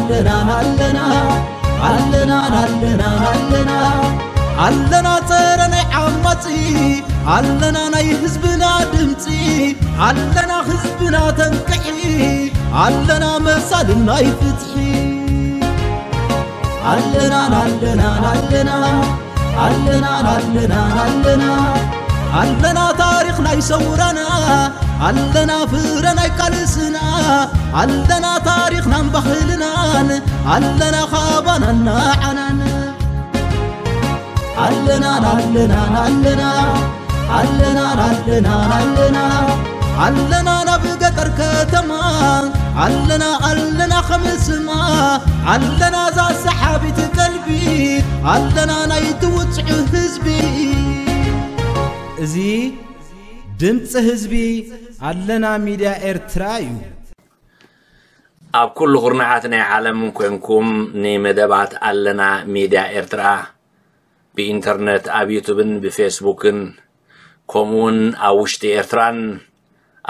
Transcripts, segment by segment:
ኣለና ኣለና ኣለና ኣለና ኣለና ኣለና ጸረ ናይ ዓማጺ ኣለና ናይ ህዝብና ድምጺ ኣለና ህዝብና ተንቅሒ ኣለና መሳልን ናይ ፍትሒ ኣለና ኣለና ኣለና ኣለና ኣለና ኣለና ኣለና ታሪኽ ናይ ሰውራና ኣለና ፍረ ናይ ቃልስና ኣለና ታሪኽናን ባህልናን ኣለና ካባናን ንዓናን ኣለና ኣለና ኣለና ኣለና ኣለና ኣለና ኣለና ናብ ገጠር ከተማ ኣለና ኣለና ከምስማ ኣለና ዛ ሰሓቢት ቀልቢ ኣለና ናይ ትውፅዑ ህዝቢ እዚ ድምፂ ህዝቢ ኣለና ሚድያ ኤርትራ እዩ። ኣብ ኩሉ ኩርናዓት ናይ ዓለም ኮንኩም ንመደባት ኣለና ሚድያ ኤርትራ ብኢንተርነት ኣብ ዩቱብን ብፌስቡክን ከምኡውን ኣብ ውሽጢ ኤርትራን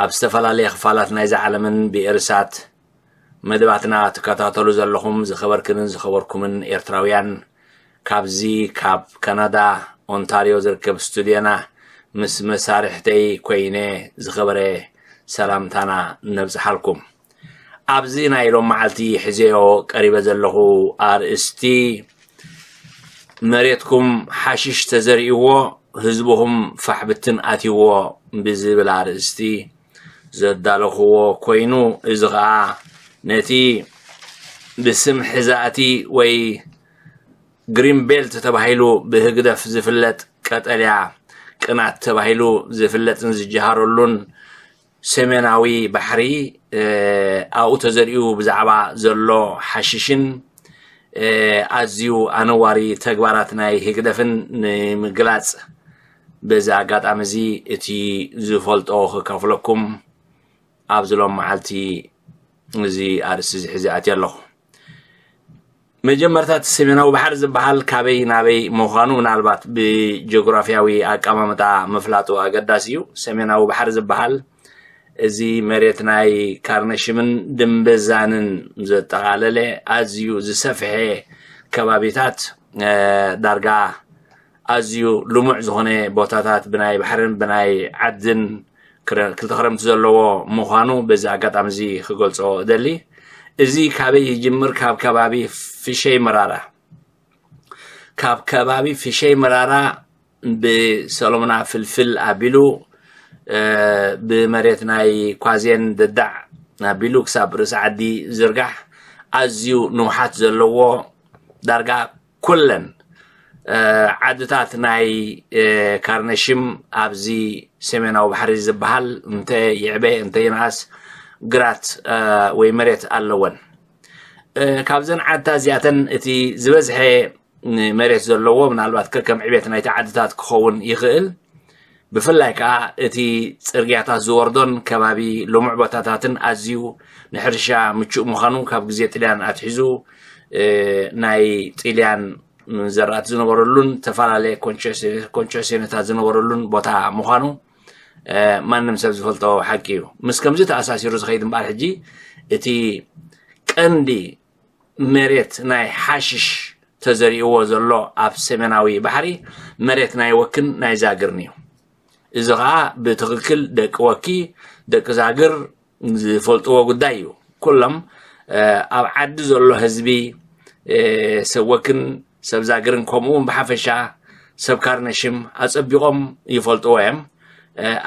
ኣብ ዝተፈላለየ ክፋላት ናይዛ ዓለምን ብኤርሳት መደባትና ትከታተሉ ዘለኹም ዝኸበርክንን ዝኸበርኩምን ኤርትራውያን ካብዚ ካብ ካናዳ ኦንታርዮ ዝርከብ ስቱድዮና ምስ መሳርሕተይ ኮይነ ዝኸበረ ሰላምታና ነብጽሓልኩም። ኣብዚ ናይ ሎም መዓልቲ ሕዜዮ ቀሪበ ዘለኹ ኣርእስቲ መሬትኩም ሓሽሽ ተዘሪእዎ ህዝብኹም ፋሕብትን ኣትይዎ ብዝብል ኣርእስቲ ዘዳለኽዎ ኮይኑ እዚ ኸኣ ነቲ ብስም ሕዛእቲ ወይ ግሪን ቤልት ተባሂሉ ብህግደፍ ዝፍለጥ ቀጠልያ ቅናት ተባሂሉ ዝፍለጥን ዝጀሃረሉን ሰሜናዊ ባሕሪ ኣብኡ ተዘሪኡ ብዛዕባ ዘሎ ሓሽሽን ኣዝዩ ኣነዋሪ ተግባራት ናይ ህግደፍን ንምግላጽ በዚ ኣጋጣሚ እዚ እቲ ዝፈልጦ ክካፍለኩም ኣብዚ ሎም መዓልቲ እዚ ኣርእስቲ እዚ ሒዘ ኣትየ ኣለኹ። መጀመርታ እቲ ሰሜናዊ ባሕሪ ዝበሃል ካበይ ናበይ ምዃኑ ምናልባት ብጂኦግራፊያዊ ኣቀማምጣ ምፍላጡ ኣገዳሲ እዩ። ሰሜናዊ ባሕሪ ዝበሃል እዚ መሬት ናይ ካርነሽምን ድምበዛንን ዘጠቓለለ ኣዝዩ ዝሰፍሐ ከባቢታት ዳርጋ ኣዝዩ ልሙዕ ዝኾነ ቦታታት ብናይ ባሕርን ብናይ ዓድን ክልተ ክረምቲ ዘለዎ ምዃኑ በዚ ኣጋጣሚ እዚ ክገልጾ እደሊ። እዚ ካበይ ይጅምር? ካብ ከባቢ ፍሸይ መራራ ካብ ከባቢ ፍሸይ መራራ ብሰሎምና ፍልፍል ኣቢሉ ብመሬት ናይ ኳዜን ደዳዕ ኣቢሉ ክሳብ ርእሲ ዓዲ ዝርጋሕ ኣዝዩ ንውሓት ዘለዎ ዳርጋ ኩለን ዓድታት ናይ ካርነሽም ኣብዚ ሰሜናዊ ባሕሪ ዝበሃል እንተ ይዕበ እንተ ይንኣስ ግራት ወይ መሬት ኣለወን። ካብዘን ዓድታት እዚኣተን እቲ ዝበዝሐ መሬት ዘለዎ ምናልባት ከከም ዕቤት ናይቲ ዓድታት ክኸውን ይኽእል። ብፍላይ ከዓ እቲ ፅርግያታት ዝወርዶን ከባቢ ልሙዕ ቦታታትን ኣዝዩ ንሕርሻ ምቹእ ምዃኑ ካብ ግዜ ጥልያን ኣትሒዙ ናይ ጥልያን ዘራእቲ ዝነበረሉን ዝተፈላለየ ኮንቸሲዮንታት ዝነበረሉን ቦታ ምዃኑ ማንም ሰብ ዝፈልጦ ሓቂ እዩ። ምስ ከምዚ ተኣሳሲሩ ዝኸይድ እምበኣር ሕጂ እቲ ቀንዲ መሬት ናይ ሓሽሽ ተዘሪእዎ ዘሎ ኣብ ሰሜናዊ ባሕሪ መሬት ናይ ወክን ናይ ዛግርን እዩ። እዚ ኸዓ ብትኽክል ደቂ ወኪ ደቂ ዛግር ዝፈልጥዎ ጉዳይ እዩ። ኩሎም ኣብ ዓዲ ዘሎ ህዝቢ ሰብ ወክን ሰብ ዛግርን ከምኡ እውን ብሓፈሻ ሰብ ካርነሽም ኣጸቢቖም ይፈልጥዎ እዮም።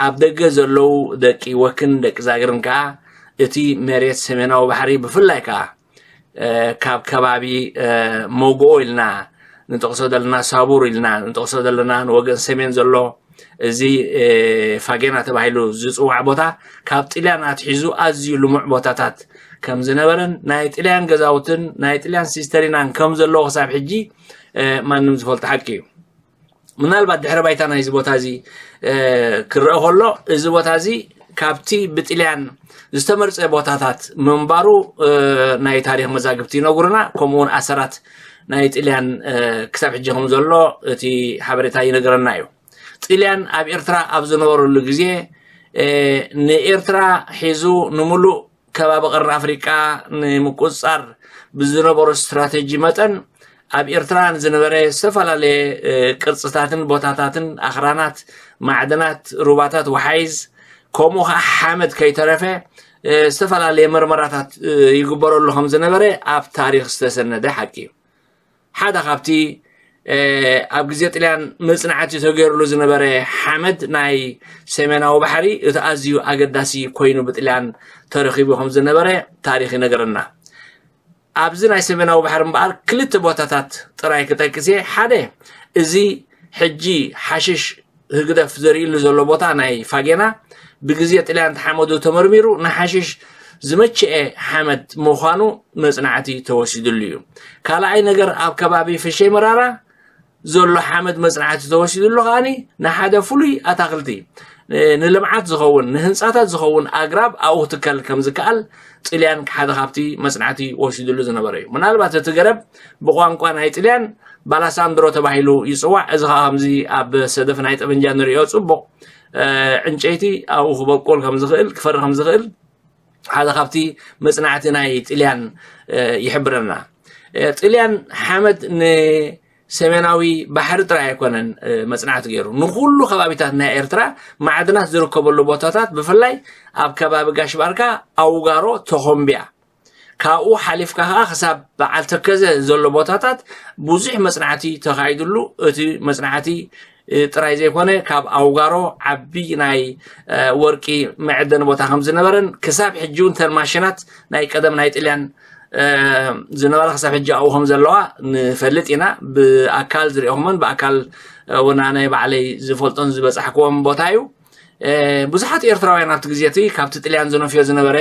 ኣብ ደገ ዘለዉ ደቂ ወክን ደቂ ዛግርን ከዓ እቲ መሬት ሰሜናዊ ባሕሪ ብፍላይ ከዓ ካብ ከባቢ መጎኦ ኢልና ንጠቕሶ ዘለና ሳቡር ኢልና ንጠቕሶ ዘለና ንወገን ሰሜን ዘሎ እዚ ፋጌና ተባሂሉ ዝፅዋዕ ቦታ ካብ ጥልያን ኣትሒዙ ኣዝዩ ልሙዕ ቦታታት ከም ዝነበረን ናይ ጥልያን ገዛውትን ናይ ጥልያን ሲስተሪናን ከም ዘለዎ ክሳብ ሕጂ ማንም ዝፈልጦ ሓቂ እዩ። ምናልባት ድሕረ ባይታ ናይዚ ቦታ እዚ ክረአ ከሎ እዚ ቦታ እዚ ካብቲ ብጥልያን ዝተመርፀ ቦታታት ምንባሩ ናይ ታሪክ መዛግብቲ ይነግሩና። ከምኡውን ኣሰራት ናይ ጥልያን ክሳብ ሕጂ ከም ዘሎ እቲ ሓበሬታ ይነገረና እዩ። ጥልያን ኣብ ኤርትራ ኣብ ዝነበረሉ ግዜ ንኤርትራ ሒዙ ንምሉእ ከባቢ ቀርኒ ኣፍሪቃ ንምቁጽጻር ብዝነበሮ ስትራተጂ መጠን፣ ኣብ ኤርትራ ንዝነበረ ዝተፈላለየ ቅርጽታትን ቦታታትን ኣኽራናት፣ ማዕድናት፣ ሩባታት ወሓይዝ፣ ከምኡ ከዓ ሓመድ ከይተረፈ ዝተፈላለየ መርመራታት ይግበረሉ ከም ዝነበረ ኣብ ታሪኽ ዝተሰነደ ሓቂ እዩ። ሓደ ካብቲ ኣብ ግዜ ጥልያን መጽናዕቲ ተገይርሉ ዝነበረ ሓመድ ናይ ሰሜናዊ ባሕሪ እቲ ኣዝዩ ኣገዳሲ ኮይኑ ብጥልያን ተረኺቡ ከም ዝነበረ ታሪኽ ይነግረና። ኣብዚ ናይ ሰሜናዊ ባሕሪ እምበኣር ክልተ ቦታታት ጥራይ ክጠቅስ እየ። ሓደ፣ እዚ ሕጂ ሓሽሽ ህግደፍ ዘርእሉ ዘሎ ቦታ ናይ ፋጌና ብግዜ ጥልያን ተሓመዱ ተመርሚሩ ንሓሽሽ ዝመቸኤ ሓመድ ምዃኑ መጽናዕቲ ተወሲድሉ እዩ። ካልኣይ ነገር፣ ኣብ ከባቢ ፍሸይ መራራ ዘሎ ሓመድ መጽናዕቲ ተወሲድሉ ከኣኒ ንሓደ ፍሉይ ኣታኽልቲ ንልምዓት ዝኸውን ንህንጻታት ዝኸውን ኣግራብ ኣብኡ ክትከል ከም ዝከኣል ጥልያን ሓደ ካብቲ መጽናዕቲ ወሲድሉ ዝነበረ እዩ። ምናልባት እቲ ገረብ ብቋንቋ ናይ ጥልያን ባላሳንድሮ ተባሂሉ ይጽዋዕ። እዚ ከዓ ከምዚ ኣብ ሰደፍ ናይ ጠበንጃ ንሪኦ ጽቡቕ ዕንጨይቲ ኣብኡ ክበቁል ከም ዝኽእል ክፈሪ ከም ዝኽእል ሓደ ካብቲ መጽናዕቲ ናይ ጥልያን ይሕብረና። ጥልያን ሓመድ ንሰሜናዊ ባሕሪ ጥራይ ኣይኮነን መጽናዕቲ ገይሩ፣ ንኩሉ ከባቢታት ናይ ኤርትራ ማዕድናት ዝርከበሉ ቦታታት፣ ብፍላይ ኣብ ከባቢ ጋሽ ባርካ፣ ኣውጋሮ፣ ተኾምቢያ፣ ካብኡ ሓሊፍካ ከዓ ክሳብ በዓል ተከዘ ዘሎ ቦታታት ብዙሕ መጽናዕቲ ተኻይድሉ። እቲ መጽናዕቲ ጥራይ ዘይኮነ ካብ ኣውጋሮ ዓቢ ናይ ወርቂ መዕደኒ ቦታ ከም ዝነበረን ክሳብ ሕጂ እውን ተን ማሽናት ናይ ቀደም ናይ ጥልያን ዝነበራ ክሳብ ሕጂ ኣብኡ ከም ዘለዋ ንፈልጥ ኢና። ብኣካል ዝሪኦኹመን ብኣካል እውን ኣነ ባዕለይ ዝፈልጦን ዝበጻሕክዎም ቦታ እዩ። ብዙሓት ኤርትራውያን ኣብቲ ግዜ እቲ ካብቲ ጥልያን ዝነፍዮ ዝነበረ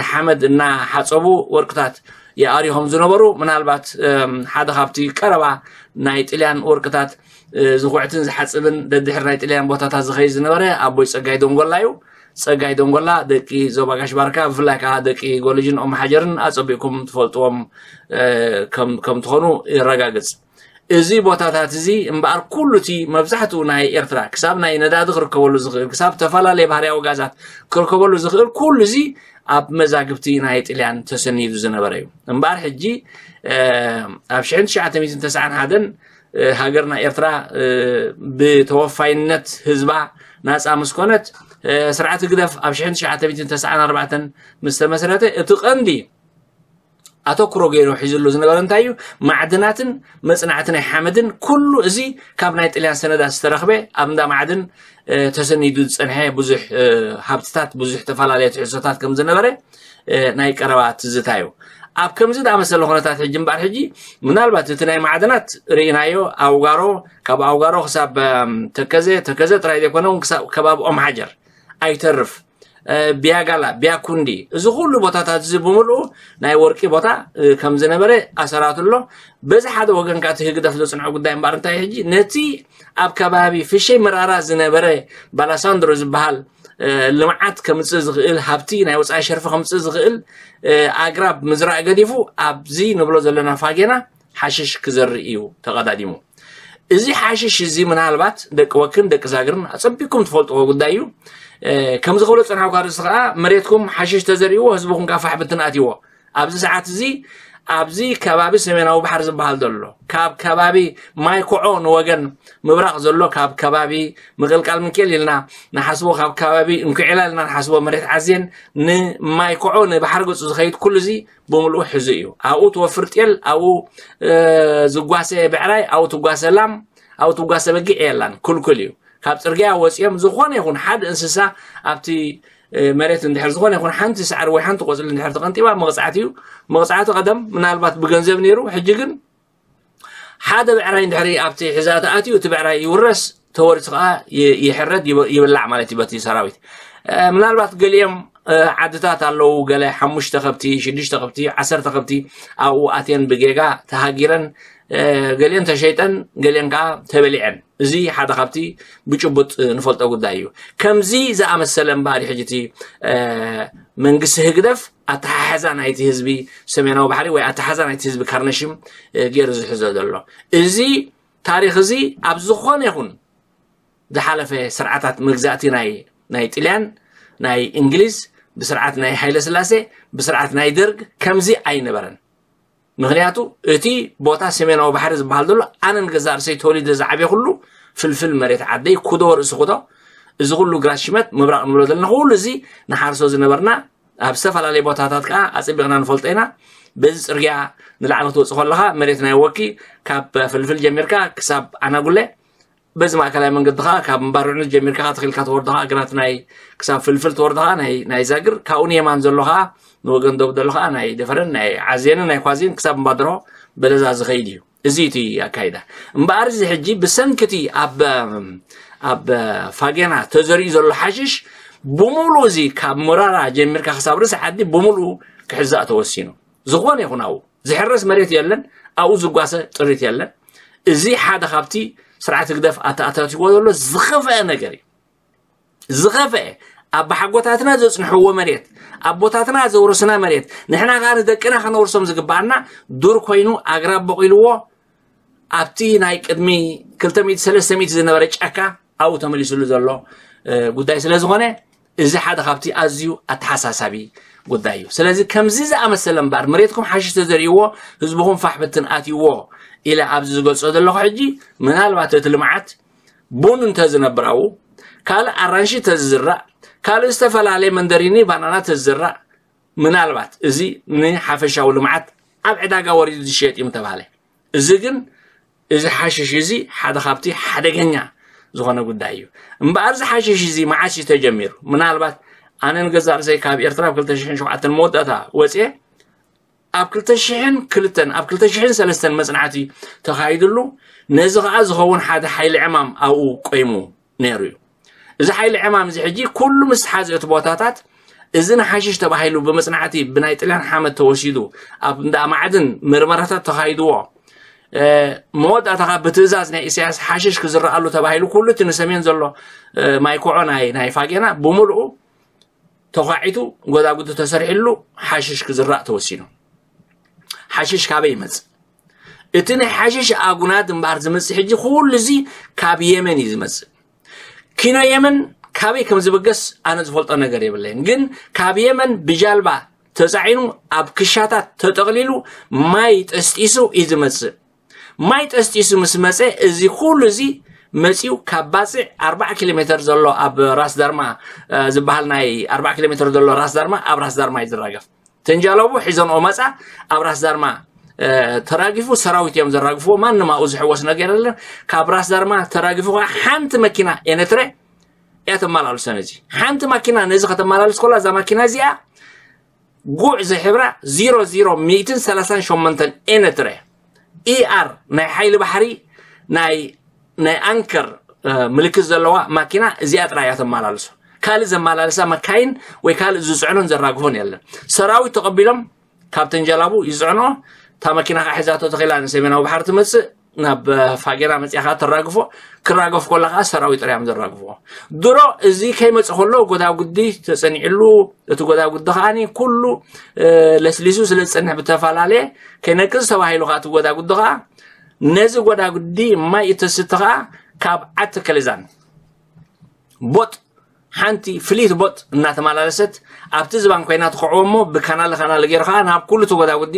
ሓመድ እናሓጸቡ ወርቅታት ይኣርዩ ከም ዝነበሩ፣ ምናልባት ሓደ ካብቲ ቀረባ ናይ ጥልያን ወርቅታት ዝኹዕትን ዝሓጽብን ደድሕሪ ናይ ጥልያን ቦታታት ዝኸይድ ዝነበረ ኣቦይ ጸጋይ ደንጎላ እዩ። ጸጋይ ደንጎላ ደቂ ዞባ ጋሽ ባርካ፣ ብፍላይ ከዓ ደቂ ጎልጅን ኦም ሓጀርን ኣጸቢቕኩም ትፈልጥዎም ከም ትኾኑ ይረጋግጽ። እዚ ቦታታት እዚ እምበኣር ኩሉ እቲ መብዛሕትኡ ናይ ኤርትራ ክሳብ ናይ ነዳዲ ክርከበሉ ዝኽእል፣ ክሳብ ተፈላለየ ባህርያዊ ጋዛት ክርከበሉ ዝኽእል ኩሉ እዚ ኣብ መዛግብቲ ናይ ጥልያን ተሰኒዱ ዝነበረ እዩ። እምበኣር ሕጂ ኣብ ሽሕን ትሽዓተ ሚእትን ተስዓን ሓደን ሃገርና ኤርትራ ብተወፋይነት ህዝባ ናጻ ምስ ኮነት፣ ስርዓት ህግደፍ ኣብ ሽሕን ትሽዓተ ሚእትን ተስዓን ኣርባዕተን ምስ ተመስረተ እቲ ቀንዲ ኣተኩሮ ገይሩ ሒዝሉ ዝነበረ እንታይ እዩ? ማዕድናትን መጽናዕቲ ናይ ሓመድን ኩሉ እዚ ካብ ናይ ጥልያን ሰነዳት ዝተረኽበ ኣብ እንዳ ማዕድን ተሰኒዱ ዝጸንሐ ብዙሕ ሃብትታት ብዙሕ ተፈላለየ ትሕዝቶታት ከም ዝነበረ ናይ ቀረባ ትዝታ እዩ። ኣብ ከምዚ ዝኣመሰለ ኩነታት ሕጂ እምበኣር ሕጂ ምናልባት እቲ ናይ ማዕድናት ርኢናዮ ኣውጋሮ ካብ ኣውጋሮ ክሳብ ተከዘ ተከዘ ጥራይ ዘይኮነ እውን ክሳብ ከባቢ ኦም ሓጀር ኣይተርፍ ቢያጋላ ቢያኩንዲ እዚ ኩሉ ቦታታት እዚ ብምልኡ ናይ ወርቂ ቦታ ከም ዝነበረ ኣሰራት ኣሎ። በዚ ሓደ ወገን ከኣ እቲ ህግደፍ ዘጽንዖ ጉዳይ እምበኣር እንታይ ሕጂ ነቲ ኣብ ከባቢ ፍሸይ መራራ ዝነበረ ባላሳንድሮ ዝበሃል ልምዓት ከምጽእ ዝኽእል ሃብቲ ናይ ወጻኢ ሸርፊ ከምጽእ ዝኽእል ኣግራብ ምዝራእ ገዲፉ ኣብዚ ንብሎ ዘለና ፋጌና ሓሽሽ ክዘርእ እዩ ተቐዳዲሙ። እዚ ሓሽሽ እዚ ምናልባት ደቂ ወክን ደቂ ዛግርን ኣጸቢቅኩም ትፈልጥዎ ጉዳይ እዩ። ከምዚ ክብሎ ጸናሕኳ ርእሲ ከዓ መሬትኩም ሓሽሽ ተዘሪእዎ ህዝብኩም ከዓ ፋሕ ብትን ኣትይዎ። ኣብዚ ሰዓት እዚ ኣብዚ ከባቢ ሰሜናዊ ባሕሪ ዝበሃል ዘሎ ካብ ከባቢ ማይ ኮዖ ንወገን ምብራቕ ዘሎ ካብ ከባቢ ምቕልቃል ምንቄል ኢልና ንሓስቦ ካብ ከባቢ እንኩዒላ ኢልና ንሓስቦ መሬት ዓዝየን ንማይ ኮዖ ንባሕሪ ገጹ ዝኸይድ ኩሉ እዚ ብምልኡ ሕዙ እዩ። ኣብኡ ትወፍር ጤል፣ ኣብኡ ዝጓሰ ብዕራይ፣ ኣብኡ ትጓሰ ላም፣ ኣብኡ ትጓሰ በጊዕ የላን፣ ክልኩል እዩ። ካብ ጽርግያ ወጺኦም ዝኾነ ይኹን ሓደ እንስሳ ኣብቲ መሬት እንድሕር ዝኾነ ይኹን ሓንቲ ሳዕሪ ወይ ሓንቲ ቆጽሊ እንድሕር ተቐንጢባ መቕጻዕቲ እዩ። መቕጻዕቲ ቀደም ምናልባት ብገንዘብ ነይሩ፣ ሕጂ ግን ሓደ ብዕራይ እንድሕሪ ኣብቲ ሕዛእቲ ኣትዩ እቲ ብዕራይ ይውረስ፣ ተወሪሱ ከዓ ይሕረድ ይብላዕ ማለት እዩ በቲ ሰራዊት። ምናልባት ገሊኦም ዓድታት ኣለዉ ገለ ሓሙሽተ ከብቲ ሽዱሽተ ከብቲ ዓሰርተ ከብቲ ኣብኡ ኣትየን ብጌጋ ተሃጊረን ገሊአን ተሸይጠን ገሊአን ከዓ ተበሊዐን። እዚ ሓደ ካብቲ ብጭቡጥ ንፈልጦ ጉዳይ እዩ። ከምዚ ዝኣመሰለ እምበኣር ሕጂ እቲ መንግስቲ ህግደፍ ኣተሓሕዛ ናይቲ ህዝቢ ሰሜናዊ ባሕሪ ወይ ኣተሓዛ ናይቲ ህዝቢ ካርነሽም ገይሩ ዝሕዞ ዘሎ። እዚ ታሪኽ እዚ ኣብ ዝኾነ ይኹን ዝሓለፈ ስርዓታት መግዛእቲ ናይ ናይ ጥልያን ናይ እንግሊዝ ብስርዓት ናይ ሃይለ ስላሴ፣ ብስርዓት ናይ ደርግ ከምዚ ኣይነበረን። ምክንያቱ እቲ ቦታ ሰሜናዊ ባሕሪ ዝበሃል ዘሎ ኣነ ንገዛእ ርእሰይ ተወሊደ ዝዓብየ ኩሉ ፍልፍል መሬት ዓደይ ኩዶ ርእሲ ኩዶ፣ እዚ ኩሉ ግራት ሽመት ምብራቕ ንብሎ ዘለና ኩሉ እዚ ንሓርሶ ዝነበርና ኣብ ዝተፈላለየ ቦታታት ከዓ ኣፀቢቕና ንፈልጦ ኢና። በዚ ፅርግያ ንላዕሊ ክትወፅእ ከለካ መሬት ናይ ወኪ ካብ ፍልፍል ጀሚርካ ክሳብ ኣናጉለ፣ በዚ ማእከላይ መንገዲ ከዓ ካብ እምባርዕኑት ጀሚርካ ተኺልካ ትወርዶ ከዓ ግራት ናይ ክሳብ ፍልፍል ትወርዶ ከዓ ናይ ናይ ዛግር ካብኡ ንየማን ዘሎ ከዓ ንወገን ደቡብ ዘሎ ከዓ ናይ ደፈረን ናይ ዓዜንን ናይ ኳዜን ክሳብ እምባድሮ በለዛ ዝኸይድ እዩ። እዚ እቲ ኣካይዳ እምበኣር እዚ ሕጂ ብሰንክቲ ኣብ ኣብ ፋጌና ተዘሪኡ ዘሎ ሓሽሽ ብምሉእ እዚ ካብ ሞራራ ጀሚርካ ክሳብ ርእሲ ዓዲ ብምሉእ ክሕዛእ ተወሲኑ። ዝኾነ ይኹን ኣብኡ ዝሕረስ መሬት የለን፣ ኣብኡ ዝጓሰ ጥሪት የለን። እዚ ሓደ ካብቲ ስርዓት ህግደፍ ኣተኣታትዎ ዘሎ ዝኸፍአ ነገር እዩ። ዝኸፍአ ኣባሓጎታትና ዘጽንሕዎ መሬት፣ ኣቦታትና ዘውረስና መሬት፣ ንሕና ከኣ ንደቅና ከነውርሶም ዝግባኣና ዱር ኮይኑ ኣግራብ በቂልዎ ኣብቲ ናይ ቅድሚ ክልተ ሚእቲ ሰለስተ ሚእቲ ዝነበረ ጫካ ኣብኡ ተመሊስሉ ዘሎ ጉዳይ ስለ ዝኾነ እዚ ሓደ ካብቲ ኣዝዩ ኣተሓሳሳቢ ጉዳይ እዩ። ስለዚ ከምዚ ዝኣመሰለ እምበር መሬትኩም ሓሽሽ ተዘሪእዎ ህዝብኹም ፋሕ ብትን ኣትይዎ ኢለ ኣብዚ ዝገልጾ ዘለኹ ሕጂ ምናልባት እቲ ልምዓት ቡን እንተዝነብር ኣብኡ ካልእ ኣራንሺ ተዝዝራእ ካልእ ዝተፈላለየ መንደሪኒ ባናና ተዝዝራእ ምናልባት እዚ ንሓፈሻዊ ልምዓት ኣብ ዕዳጋ ወሪዱ ዝሽየጥ እዩ ምተባህለ። እዚ ግን እዚ ሓሽሽ እዚ ሓደ ካብቲ ሓደገኛ ዝኾነ ጉዳይ እዩ። እምበኣር እዚ ሓሽሽ እዚ መዓስ እዩ ተጀሚሩ? ምናልባት ኣነ ንገዛእ ርእሰይ ካብ ኤርትራ ኣብ ክልተ ሽሕን ሸውዓተን መወዳእታ ወፅየ ኣብ ክልተ ሽሕን ክልተን ኣብ ክልተ ሽሕን ሰለስተን መፅናዕቲ ተኻይድሉ ነዚ ከዓ ዝኸውን ሓደ ሓይሊ ዕማም ኣብኡ ቆይሙ ነይሩ እዩ። እዚ ሓይሊ ዕማም እዚ ሕጂ ኩሉ ምስ ሓዘ እቲ ቦታታት እዚ ንሓሽሽ ተባሂሉ ብመፅናዕቲ ብናይ ጥልያን ሓመድ ተወሲዱ ኣብ እንዳ ማዕድን ምርመራታት ተኻይድዎ መወዳእታ ካብ ብትእዛዝ ናይ ኢሳያስ ሓሽሽ ክዝረኣሉ ተባሂሉ ኩሉ እቲ ንሰሜን ዘሎ ማይኮዖ ናይ ናይ ፋጌና ብምልኡ ተኳዒቱ ጎዳጉዲ ተሰሪሕሉ ሓሽሽ ክዝራእ ተወሲኑ። ሓሽሽ ካበይ ይመጽእ? እቲ ናይ ሓሽሽ ኣጉናድ እምበኣር ዝመጽእ ሕጂ ኩሉ እዚ ካብ የመን እዩ ዝመጽእ። ኪኖ የመን ካበይ ከም ዝብገስ ኣነ ዝፈልጦ ነገር የብለይን። ግን ካብ የመን ብጃልባ ተጻዒኑ ኣብ ክሻታት ተጠቕሊሉ ማይ ጠስጢሱ እዩ ዝመጽእ። ማይ ጠስጢሱ ምስ መጸ እዚ ኩሉ እዚ መጺኡ ካብ ባጽዕ ኣርባዓ ኪሎ ሜተር ዘሎ ኣብ ራስ ዳርማ ዝበሃል ናይ ኣርባዓ ኪሎ ሜተር ዘሎ ራስ ዳርማ ኣብ ራስ ዳርማ እዩ ዝራገፍ። ተንጃለቡ ሒዘንኦ መጻ ኣብ ራስ ዳርማ ተራጊፉ ሰራዊት እዮም ዘራግፍዎ። ማንም ኣብኡ ዝሕወስ ነገር የለን። ካብ ራስ ዳርማ ተራጊፉ ከዓ ሓንቲ መኪና ኤነትረ እያ ተመላልሶ። ነዚ ሓንቲ ማኪና ነዚ ከተመላልስ ኮላ እዛ ማኪና እዚኣ ጉዕ ዝሕብራ ዜሮ ዜሮ ሚእትን ሰላሳን ሸሞንተን ኤነትረ ኢኣር ናይ ሓይሊ ባሕሪ ናይ ናይ ኣንከር ምልክት ዘለዋ ማኪና እዚኣ ጥራይ እያ ተመላልሶ። ካልእ ዘመላልሳ መካይን ወይ ካልእ ዝፅዕኖን ዘራግፎን የለን። ሰራዊት ተቐቢሎም ካብ ተንጀላቡ ይፅዕኖ። እታ መኪና ከዓ ሒዛቶ ተኺላ ንሰሜናዊ ባሕሪ ትመፅእ ናብ ፋጌራ መፅያ ከዓ ተራግፎ። ክራገፍ ኮላ ከዓ ሰራዊት ጥራይ እዮም ዘራግፍዎ። ድሮ እዚ ከይመፅ ከሎ ጎዳጉዲ ተፀኒዕሉ እቲ ጎዳጉዲ ከዓ ኩሉ ለስሊሱ ስለ ዝፀንሕ ብተፈላለየ ከይነቅዝ ተባሂሉ ከዓ እቲ ጎዳጉዲ ከዓ ነዚ ጎዳጉዲ ማይ እተስቲ ከዓ ካብ ዓዲ ከሊዛን ቦጥ ሓንቲ ፍሊት ቦጥ እናተመላለሰት ኣብቲ ዝባን ኮይና ትኸዕዎ እሞ ብካናለ ካናለ ገይሩ ከዓ ናብ ኩሉ እቲ ጎዳጉዲ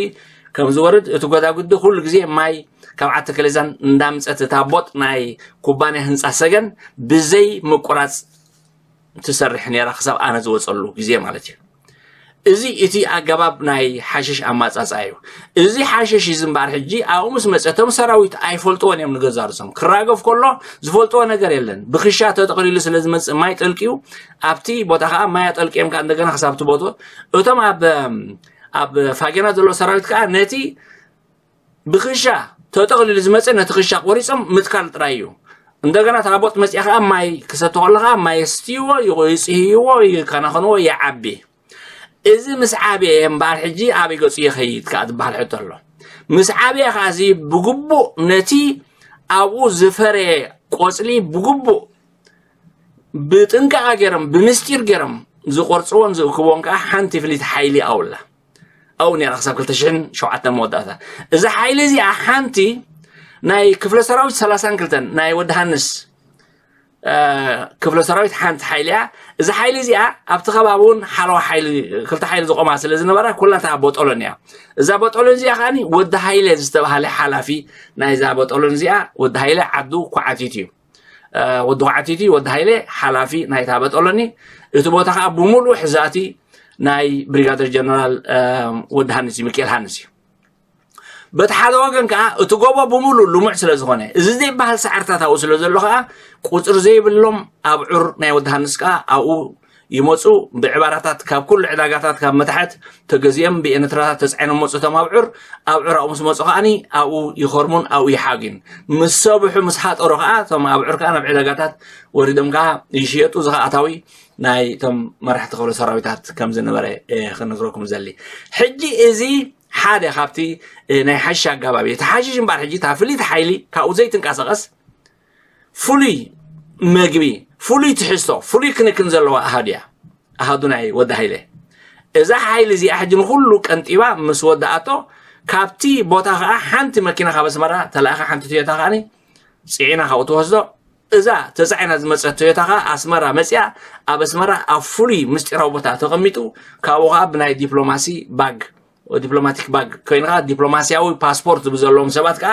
ከም ዝወርድ እቲ ጎዳጉዲ ኩሉ ግዜ ማይ ካብ ዓዲ ከሊዛን እንዳምፀት እታ ቦጥ ናይ ኩባንያ ህንፃ ሰገን ብዘይ ምቁራፅ ትሰርሕ ነይራ ክሳብ ኣነ ዝወፀሉ ግዜ ማለት እዩ። እዚ እቲ ኣገባብ ናይ ሓሽሽ ኣማፃፃ እዩ። እዚ ሓሽሽ እዚ እምበኣር ሕጂ ኣብኡ ምስ መፀ እቶም ሰራዊት ኣይፈልጥዎን እዮም ንገዛርሶም ክራገፍ ከሎ ዝፈልጥዎ ነገር የለን። ብክሻ ተጠቕሊሉ ስለ ዝመፅእ ማይ ጠልቅዩ ኣብቲ ቦታ ከዓ ማይ ኣጠልቅዮም ከዓ እንደገና ክሳብ እቲ ቦትኡ እቶም ኣብ ኣብ ፋጌና ዘሎ ሰራዊት ከዓ ነቲ ብክሻ ተጠቕሊሉ ዝመፀ ነቲ ክሻ ቆሪፆም ምትካል ጥራይ እዩ። እንደገና ታቦት መፅያ ከዓ ማይ ክሰተ ከሎ ከዓ ማይ የስትይዎ ይፅህይዎ ይከናኸንዎ ይዓቢ። እዚ ምስ ዓብየ እምበኣር ሕጂ ኣበይ ገፁ ይኸይድ ከዓ ዝበሃል ሕቶ ኣሎ። ምስ ዓብየ ከዓ እዚ ብግቡእ ነቲ ኣብኡ ዝፈረየ ቆፅሊ ብግቡእ ብጥንቃቐ ገይሮም ብምስጢር ገይሮም ዝቆርፅዎን ዝእክብዎን ከዓ ሓንቲ ፍሊት ሓይሊ ኣውላ ኣብኡ ነይራ ክሳብ ክልተ ሽሕን ሸውዓተን መወዳእታ። እዛ ሓይሊ እዚኣ ሓንቲ ናይ ክፍለ ሰራዊት ሰላሳን ክልተን ናይ ወዲ ሃንስ ክፍለ ሰራዊት ሓንቲ ሓይሊ እያ። እዛ ሓይሊ እዚኣ ኣብቲ ከባቢ እውን ሓለዋ ሓይሊ፣ ክልተ ሓይሊ ዝቆማ ስለ ዝነበራ፣ ኩላታ ቦጦሎን እያ። እዛ ቦጦሎን እዚኣ ከዓኒ ወዲ ሃይለ ዝተባሃለ ሓላፊ ናይዛ ቦጦሎን እዚኣ፣ ወዲ ሃይለ ዓዱ ኳዓቲት እዩ። ወዲ ኳዓቲት እዩ፣ ወዲ ሃይለ ሓላፊ ናይታ ቦጦሎኒ። እቲ ቦታ ከዓ ብሙሉእ ሕዛእቲ ናይ ብሪጋደር ጀነራል ወዲ ሃንስ እዩ፣ ሚካኤል ሃንስ እዩ። በቲ ሓደ ወገን ከዓ እቲ ጎቦ ብምሉእ ልሙዕ ስለ ዝኾነ፣ እዚ ዘይበሃል ሳዕርታት ኣብኡ ስለ ዘሎ ከዓ፣ ቁፅሪ ዘይብሎም ኣብዑር ናይ ወዲ ሃንስ ከዓ ኣብኡ ይመፁ። ብዕባራታት ካብ ኩሉ ዕዳጋታት ካብ መታሕት ተገዚኦም ብኤነትራታት ተፃዒኖም መፁ። እቶም ኣብዑር ኣብዑር ኣብኡ ምስ መፁ ከዓኒ ኣብኡ ይኸርሙን ኣብኡ ይሓግዩን። ምስ ሰብሑ ምስ ሃጠሩ ከዓ እቶም ኣብዑር ከዓ ናብ ዕዳጋታት ወሪዶም ከዓ ይሽየጡ። እዚ ከዓ ኣታዊ ናይ እቶም መራሕቲ ክፍለ ሰራዊታት ከም ዝነበረ ክነግረኩም ዘሊ። ሕጂ እዚ ሓደ ካብቲ ናይ ሓሽሽ ኣጋባብ እዩ። እቲ ሓሽሽ እምበኣር ሕጂ እታ ፍልይቲ ሓይሊ ካብኡ ዘይትንቀሳቐስ፣ ፍሉይ መግቢ፣ ፍሉይ ትሕዝቶ፣ ፍሉይ ክንክን ዘለዋ ኣሃዱ እያ። ኣሃዱ ናይ ወዲ ሃይለ። እዛ ሓይሊ እዚኣ ሕጂ ንኹሉ ቀንጢባ ምስ ወዳኣቶ፣ ካብቲ ቦታ ከዓ ሓንቲ መኪና ካብ ኣስመራ ተላእኻ፣ ሓንቲ ቶዮታ ከዓኒ ፅዒና ካብኡ ትወስዶ። እዛ ተፃዒና ዝመፀት ቶዮታ ከዓ ኣስመራ መፅያ፣ ኣብ ኣስመራ ኣብ ፍሉይ ምስጢራዊ ቦታ ተቐሚጡ፣ ካብኡ ከዓ ብናይ ዲፕሎማሲ ባግ፣ ዲፕሎማቲክ ባግ ኮይኑ ከዓ ዲፕሎማሲያዊ ፓስፖርት ብዘለዎም ሰባት ከዓ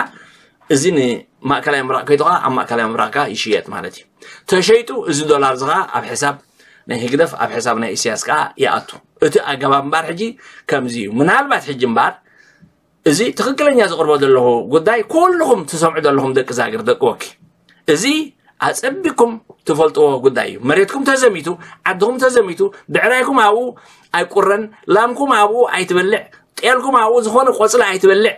እዚ ንማእከላይ ምብራቕ ከይዱ ከዓ ኣብ ማእከላይ ምብራቕ ከዓ ይሽየጥ ማለት እዩ። ተሸይጡ እዚ ዶላር እዚ ከዓ ኣብ ሕሳብ ናይ ህግደፍ፣ ኣብ ሕሳብ ናይ ኢሳያስ ከዓ ይኣቱ። እቲ ኣገባብ እምበኣር ሕጂ ከምዚ እዩ። ምናልባት ሕጂ እምበኣር እዚ ትኽክለኛ ዝቕርቦ ዘለኹ ጉዳይ ኩልኹም ትሰምዑ ዘለኹም ደቂ ዛግር፣ ደቂ ወኪ፣ እዚ ኣጸቢቕኩም ትፈልጥዎ ጉዳይ እዩ። መሬትኩም ተዘሚቱ፣ ዓድኹም ተዘሚቱ፣ ብዕራይኩም ኣብኡ ኣይቁረን፣ ላምኩም ኣብኡ ኣይትበልዕ፣ ጤልኩም ኣብኡ ዝኾነ ቆጽሊ ኣይትበልዕ።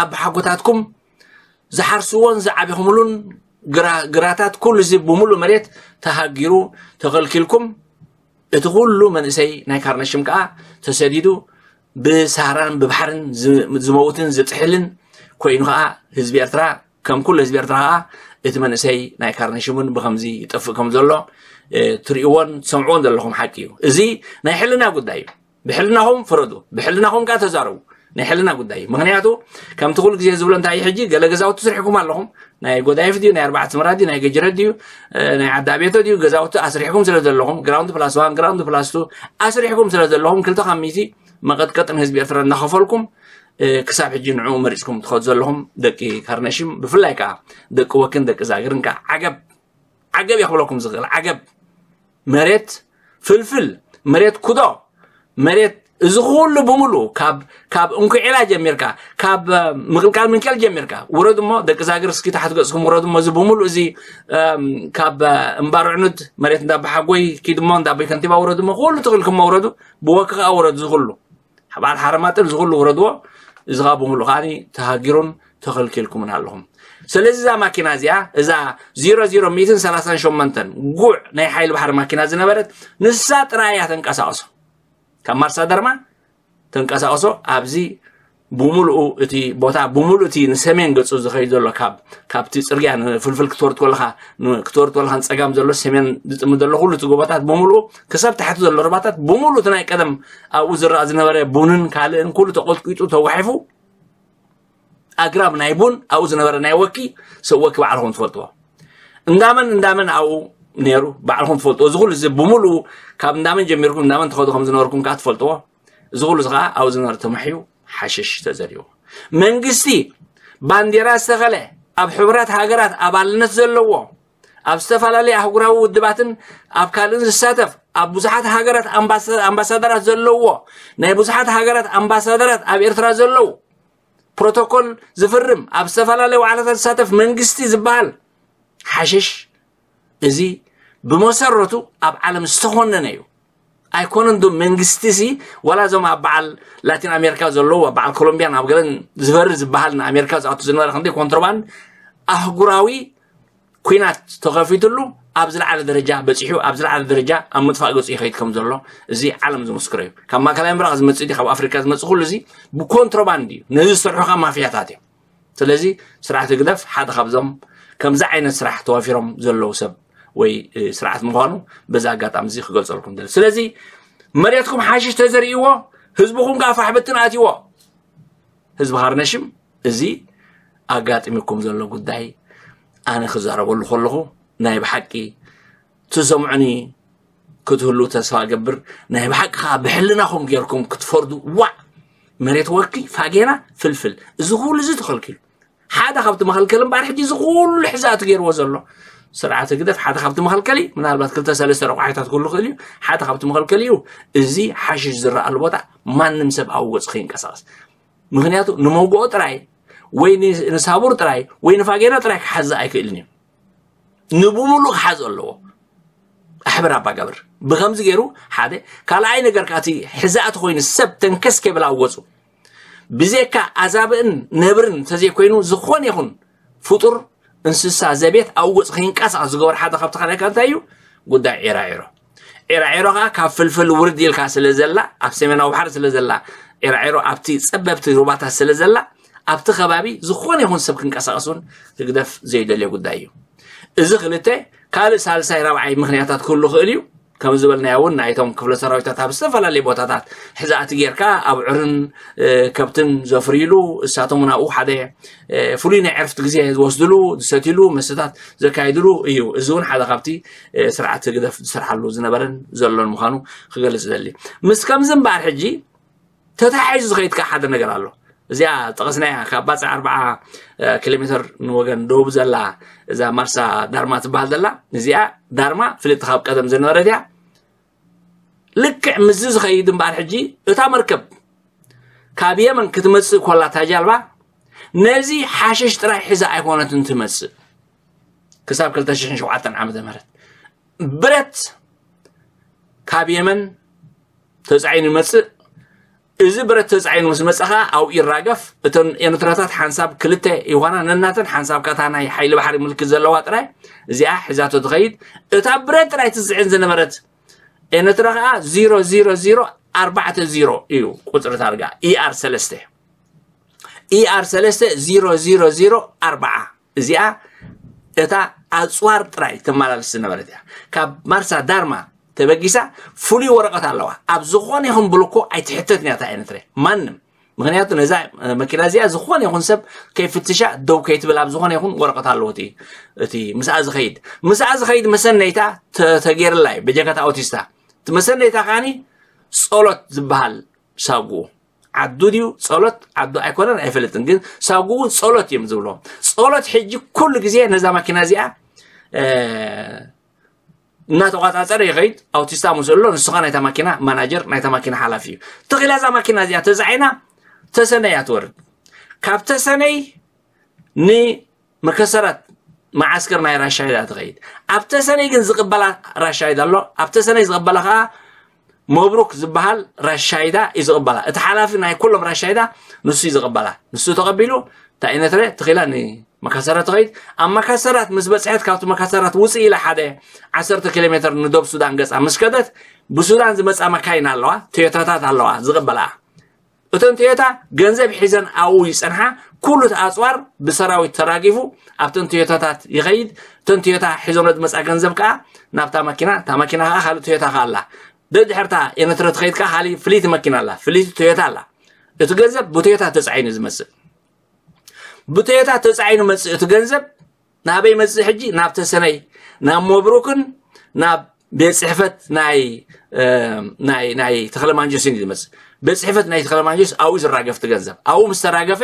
ኣቦሓጎታትኩም ዝሓርስዎን ዝዓቢኹምሉን ግራ-፣ ግራታት ኩሉ እዚ ብምሉእ መሬት ተሃጊሩ ተኸልኪልኩም፣ እቲ ኩሉ መንእሰይ ናይ ካርነሽም ከኣ ተሰዲዱ ብሳህራን ብባሕርን ዝ-፣ ዝመውትን ዝጥሕልን ኮይኑ ከኣ ህዝቢ ኤርትራ፣ ከም ኩሉ ህዝቢ ኤርትራ ከኣ እቲ መንእሰይ ናይ ካርነሽም እውን ብኸምዚ ይጠፍእ ከም ዘሎ፣ እ፣ ትርእይዎን ትሰምዕዎን ዘለኹም ሓቂ እዩ። እዚ ናይ ሕልና ጉዳይ እዩ። ብሕልናኹም ፍረዱ፣ ብሕልናኹም ከኣ ተዛረቡ። ናይ ሕልና ጉዳይ እዩ። ምኽንያቱ ከምቲ ኩሉ ግዜ ዝብሎ እንታይ እዩ፣ ሕጂ ገለ ገዛውቲ ስሪሕኩም ኣለኹም። ናይ ጎዳይፍ ድዩ፣ ናይ ኣርባዕተ ስምራ ድዩ፣ ናይ ገጅረት ድዩ፣ እ፣ ናይ ዓዲ ኣቤቶ ድዩ፣ ገዛውቲ ኣስሪሕኩም ስለ ዘለኹም፣ ግራውንድ ፕላስ ዋን፣ ግራውንድ ፕላስ ቱ ኣስሪሕኩም ስለ ዘለኹም፣ ክልተ ካብ ሚእቲ መቐጥቀጥን ህዝቢ ኤርትራ እናኸፈልኩም፣ እ፣ ክሳብ ሕጂ ንዕኡ መሪጽኩም ትኸዱ ዘለኹም ደቂ ካርነሽም፣ ብፍላይ ከኣ ደቂ ወክን ደቂ ዛግርን ከኣ ዓገብ፣ ዓገብ እየ ክብለኩም ዝኽእል። ዓገብ። መሬት ፍልፍል፣ መሬት ኩዶ፣ መሬት እዚ ኩሉ ብምሉእ ካብ፣ ካብ እንኩዒላ ጀሚርካ፣ ካብ፣ እ፣ ምቕልቃል ምንኬል ጀሚርካ፣ ውረዱ እሞ ደቂ ዛግር እስኪ ታሕቲ ገጽኩም ውረዱ እሞ እዚ ብምሉእ እዚ፣ እም፣ ካብ፣ እ፣ እምባር ዕኑድ መሬት እንዳባሓጎይ ኪድ እሞ እንዳቦይ ከንቲባ ውረዱ እሞ ኩሉ ትኽልኩም እሞ ውረዱ፣ ብወኪ ከኣ ውረዱ እዚ ኩሉ። በዓል ሓረማጥን እዚ ኩሉ ውረድዎ፣ እዚ ኸኣ ብምሉእ ከኣ ተሃጊሩን ተኸልኪልኩምን ኣለኹም። ስለዚ እዛ ማኪና እዚኣ፣ እዛ ዜሮ ዜሮ ሚእትን ሰላሳን ሸሞንተን ጉዕ ናይ ሓይሊ ባሕሪ ማኪና ዝነበረት፣ ንሳ ጥራይ እያ ተንቀሳቕሶ። ካብ ማርሳ ደርማ ተንቀሳቕሶ ኣብዚ ብምሉኡ እቲ ቦታ፣ ብምሉእ እቲ ንሰሜን ገጹ ዝኸይድ ዘሎ ካብ፣ ካብቲ ጽርግያ ንፍልፍል ክትወርድ ከለኻ፣ ን-፣ ክትወርድ ከለኻ ንጸጋም ዘሎ ሰሜን ዝጥምት ዘሎ ኩሉ እቲ ጎቦታት ብምሉኡ ክሳብ ታሕቲ ዘሎ ሩባታት ብምሉእ እቲ ናይ ቀደም ኣብኡ ዝረኣ ዝነበረ ቡንን ካልእን ኩሉ ተቆጥቂጡ ተጓሒፉ ኣግራብ ናይ ቡን ኣብኡ ዝነበረ ናይ ወኪ ሰብ ወኪ ባዕልኹም ትፈልጥዎ። እንዳመን እንዳመን ኣብኡ ነይሩ ባዕልኹም ትፈልጥዎ። እዚ ኩሉ እዚ ብምሉኡ ካብ እንዳመን ጀሚርኩም እንዳመን ትኸዱ ከም ዝነበርኩም ከኣ ትፈልጥዎ። እዚ ኩሉ እዚ ከኣ ኣብኡ ዝነበረ ተማሕዩ ሓሽሽ ተዘሪዎ። መንግስቲ ባንዴራ ዝተኸለ ኣብ ሕቡራት ሃገራት ኣባልነት ዘለዎ ኣብ ዝተፈላለዩ ኣህጉራዊ ውድባትን ኣብ ካልእን ዝሳተፍ ኣብ ብዙሓት ሃገራት ኣምባሳ-፣ ኣምባሳደራት ዘለዎ ናይ ብዙሓት ሃገራት ኣምባሳደራት ኣብ ኤርትራ ዘለዉ ፕሮቶኮል ዝፍርም ኣብ ዝተፈላለዩ ዋዕላታት ዝሳተፍ መንግስቲ ዝበሃል ሓሽሽ እዚ ብመሰረቱ ኣብ ዓለም ዝተኾነነ እዩ። ኣይኮነን ዶ መንግስቲ ሲ ዋላ እዞም ኣብ በዓል ላቲን ኣሜሪካ ዘለዉ ኣብ በዓል ኮሎምቢያን ኣብ ገለን ዝበሪ ዝበሃል ንኣሜሪካ ዝኣቱ ዝነበረ ክንደይ ኮንትሮባንድ ኣህጉራዊ ኲናት ተኸፊትሉ ኣብ ዝለዓለ ደረጃ በጺሑ፣ ኣብ ዝለዓለ ደረጃ ኣብ ምጥፋእ ገጹ ይኸይድ ከም ዘሎ እዚ ዓለም ዝምስክሮ እዩ። ካብ ማእከላይ ምብራቕ ዝመጽእ ድዩ፣ ካብ ኣፍሪካ ዝመጽእ፣ ኩሉ እዚ ብኮንትሮባንድ እዩ። ነዚ ዝሰርሑ ከዓ ማፍያታት እዮም። ስለዚ ስርዓት ህግደፍ ሓደ ካብዞም ከምዚ ዓይነት ስራሕ ተዋፊሮም ዘለዉ ሰብ ወይ፣ እ፣ ስርዓት ምዃኑ በዚ ኣጋጣሚ እዚ ክገልጸልኩም ደሊ። ስለዚ መሬትኩም ሓሽሽ ተዘርእዎ፣ ህዝብኹም ከዓ ፋሕ ብትን ኣትይዎ። ህዝቢ ካርነሽም እዚ ኣጋጢሙኩም ዘሎ ጉዳይ ኣነ ክዛረበሉ ከለኹ ናይ ብሓቂ ትሰምዑኒ ክትህሉ ተስፋ እገብር። ናይ ብሓቂ ከዓ ብሕልናኹም ጌርኩም ክትፈርዱ። ዋዕ፣ መሬት ወኪ፣ ፋጌና፣ ፍልፍል፣ እዚ ኩሉ እዚ ተኸልኪሉ። ሓደ ካብቲ መኸልከሊ እምበኣር ሕጂ እዚ ኩሉ ሕዛእቲ ገይርዎ ዘሎ ስርዓት ህግደፍ ሓደ ካብቲ መኸልከሊ ምናልባት ክልተ ሰለስተ ረቋሒታት ክህሉ ይኽእል እዩ። ሓደ ካብቲ መኸልከሊ እዩ እዚ ሓሽሽ ዝረኣሉ ቦታ ማንም ሰብ ኣብ ወፅ ከይንቀሳቐስ። ምክንያቱ ንመውግኦ ጥራይ ወይ ን- ንሳቡር ጥራይ ወይ ንፋጌና ጥራይ ክሓዝ ኣይክእልን እዩ። ንብሙሉእ ክሓዝ ኣለዎ። ኣሕብር ኣባጋብር ብከምዚ ገይሩ ሓደ ካልኣይ ነገር ከኣ እቲ ሕዛእቲ ኮይኑ ሰብ ተንከስ ከብል ኣወፁ። ብዘካ ኣዛብእን ነብርን እንተዘይኮይኑ ዝኾነ ይኹን ፍጡር እንስሳ ዘቤት ኣብ ወፅ ከይንቀሳቐስ ዝገበር ሓደ ካብቲ ካልኣይ እንታይ እዩ? ጉዳይ ዒራዒሮ። ዒራዒሮ ከዓ ካብ ፍልፍል ውርድ ኢልካ ስለ ዘላ ኣብ ሰሜናዊ ባሕሪ ስለ ዘላ ዒራዒሮ ኣብቲ ፀበብቲ ሩባታት ስለ ዘላ ኣብቲ ከባቢ ዝኾነ ይኹን ሰብ ክንቀሳቐስ እውን ህግደፍ ዘይደልዮ ጉዳይ እዩ። እዚ ክልተ ካልእ ሳልሳይ ራብዓይ ምክንያታት ክህሉ ክእል እዩ። ከም ዝበልናዮ እውን ናይቶም ክፍለ ሰራዊታት ኣብ ዝተፈላለዩ ቦታታት ሕዛእቲ ጌርካ ኣብ ዑርን ከብትን ዘፍርይሉ እሳቶም ናብኡ ሓደ ፍሉይ ናይ ዕርፍቲ ግዜ ዝወስድሉ ዝሰትሉ መስተታት ዘካይድሉ እዩ። እዚ እውን ሓደ ካብቲ ስርዓት ህግደፍ ዝሰርሓሉ ዝነበረን ዘሎን ምዃኑ ክገልጽ ደሊ። ምስ ከምዚ እምበኣር ሕጂ ተታሒዙ ዝኸይድ ከዓ ሓደ ነገር ኣሎ። እዚኣ ጠቐስናያ ካብ ባፅዕ ኣርባዓ ኪሎ ሜትር ንወገን ደቡብ ዘላ እዛ ማርሳ ዳርማ ትበሃል ዘላ እዚኣ ዳርማ ፍልጥቲ ካብ ቀደም ዝነበረት እያ። ልክዕ ምስዚ ዝኸይድ እምበኣር ሕጂ እታ መርከብ ካብ የመን ክትመፅእ ኮላ እታ ጃልባ ነዚ ሓሽሽ ጥራይ ሒዛ ኣይኮነትን ትመፅእ። ክሳብ ክልተ ሽሕን ሸውዓተን ዓመተ ምህረት ብረት ካብ የመን ተፃዒኑ ይመፅእ። እዚ ብረት ተፃዒኑ ምስ መፀ ከዓ ኣብኡ ይራገፍ። እተን ኤርትራታት ሓንሳብ ክልተ ይኾና ነናተን ሓንሳብ ከታ ናይ ሓይሊ ባሕሪ ምልክት ዘለዋ ጥራይ እዚኣ ሒዛቶ ትኸይድ። እታ ብረት ጥራይ ትፅዕን ዝነበረት ኤርትራ ከዓ ዜሮ ዜሮ ዜሮ ኣርባዕተ ዜሮ እዩ ቁፅሪ ታርጋ ኢኣር ሰለስተ ኢኣር ሰለስተ ዜሮ ዜሮ ዜሮ ኣርባዓ እዚኣ እታ ኣፅዋር ጥራይ ተመላልስ ዝነበረት እያ። ካብ ማርሳ ዳርማ ተበጊሳ ፍሉይ ወረቐት ኣለዋ። ኣብ ዝኾነ ይኹን ብልኮ ኣይትሕተትን እያ እታ ኤርትራ ማንም። ምክንያቱ ነዛ መኪና እዚኣ ዝኾነ ይኹን ሰብ ከይፍትሻ ደው ከይትብል ኣብ ዝኾነ ይኹን ወረቐት ኣለዎ እቲ እቲ ምስኣ ዝኸይድ ምስኣ ዝኸይድ መሰነይታ ተ- ተገይርላ እዩ በጀካት ኣውቲስታ። እቲ መሰነይታ ከዓኒ ጸሎት ዝበሃል ሳጉኡ ዓዱ ድዩ ጸሎት ዓዱ ኣይኮነን ኣይፈልጥን፣ ግን ሳጉኡ ጸሎት እዮም ዝብሎ። ጸሎት ሕጂ ኩሉ ግዜ ነዛ ማኪና እዚኣ እናተቋጻጸረ ይኸይድ። ኣውቲስታ ምስ ኣሎ ንስኻ ናይታ ማኪና ማናጀር ናይታ ማኪና ሓላፊ እዩ። ተኺላ እዛ ማኪና እዚኣ ተዛዒና ተሰነይ እያ ትወርድ። ካብ ተሰነይ ንመከሰራት መዓስከር ናይ ራሻይዳ ትኸይድ። ኣብ ተሰነይ ግን ዝቕበላ ራሻይዳ ኣሎ። ኣብ ተሰነይ ዝቕበላ ከዓ መብሩክ ዝበሃል ራሻይዳ እዩ ዝቕበላ። እቲ ሓላፊ ናይ ኩሎም ራሻይዳ ንሱ እዩ ዝቕበላ። ንሱ ተቐቢሉ እታ ኤነትረ ትኺላ ንመካሰራት ትኸይድ። ኣብ መካሰራት ምስ በፅሐት ካብቲ መካሰራት ውፅእ ኢላ ሓደ ዓሰርተ ኪሎ ሜትር ንዶብ ሱዳን ገፃ ምስ ከደት ብሱዳን ዝመፃ መካይን ኣለዋ፣ ቶዮታታት ኣለዋ ዝቕበላ። እተን ቶዮታ ገንዘብ ሒዘን ኣብኡ ይጸንሓ። ኩሉ እቲ ኣጽዋር ብሰራዊት ተራጊፉ ኣብተን ቶዮታታት ይኸይድ። እተን ቶዮታ ሒዞን ዝመጻ ገንዘብ ከኣ ናብታ መኪና፣ እታ መኪና ከኣ ካልእ ቶዮታ ከኣ ኣላ። ደድሕርታ ኤነትረ ትኸይድ ከኣ ካልእ ፍልይቲ መኪና ኣላ፣ ፍልይቲ ቶዮታ ኣላ። እቲ ገንዘብ ብቶዮታ ተጻዒኑ ዝመጽእ ብቶዮታ ተጻዒኑ መጽእ እቲ ገንዘብ ናበይ መጽእ ሕጂ ናብ ተሰነይ ናብ መብሩክን ናብ ቤት ጽሕፈት ናይ ናይ ናይ ተኽለማንጆስን እዩ ዝመጽእ። ቤት ጽሕፈት ናይ ተኽለማንጆስ ኣብኡ ዝራገፍ እቲ ገንዘብ ኣብኡ ምስ ተራገፈ